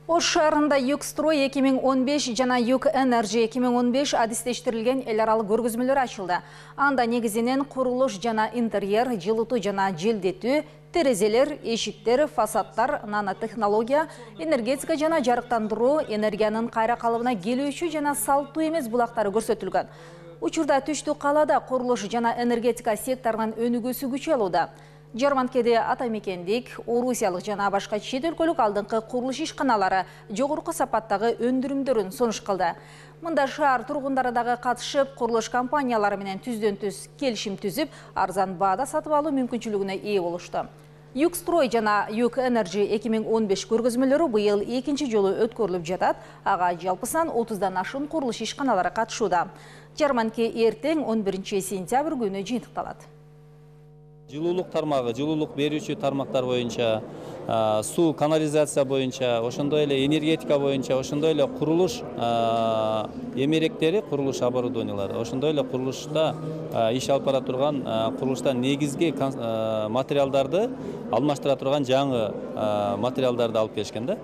Ош шаарында Югстрой 2015 жана Юг Энерджи 2015 адистештирилген эл аралык көргөзмөлөр ачылды. Анда негизинен курулуш жана интерьер, жылытуу жана желдетүү, терезелер, эшиктер, фасадтар, нанотехнология, энергетика жана жарыктандыруу, энергиянын кайра калыбына келүүчү жана салттуу эмес булактары көрсөтүлгөн. Учурда Түштүк калаада курулуш жана энергетика секторунун өнүгүүсү күчөй алууда. Жарманкеде атамекендик, орусиялык жана башка чет өлкөлүк алдыңкы курулуш ишканалары жогорку сапаттагы өндүрүмдөрүн сунуш кылды. Мында шаар тургундары дагы катышып, курулуш компаниялары менен түздөн-түз келишим түзүп, арзан баада сатып алуу мүмкүнчүлүгүнө ээ болушту. Югстрой жана Юг Энерджи 2015 көргөзмөлөрү быйыл экинчи жолу өткөрүлүп жатат. Ага жалпысынан 30дан ашуун курулуш ишканалары катышууда. Жарманке эртең 11 сентябрь күнү жыйынтыкталат. Жылуулук тармагы, жылуулук берүүчү тармактар боюнча, суу, канализация боюнча, ошондой эле энергетика боюнча, ошондой эле курулуш эмеректери, курулуш оборудованиялары, ошондой эле курулушта иш алып бара турган курулушта негизги материалдарды алмаштыра турган жаңы материалдарды алып келишкен да.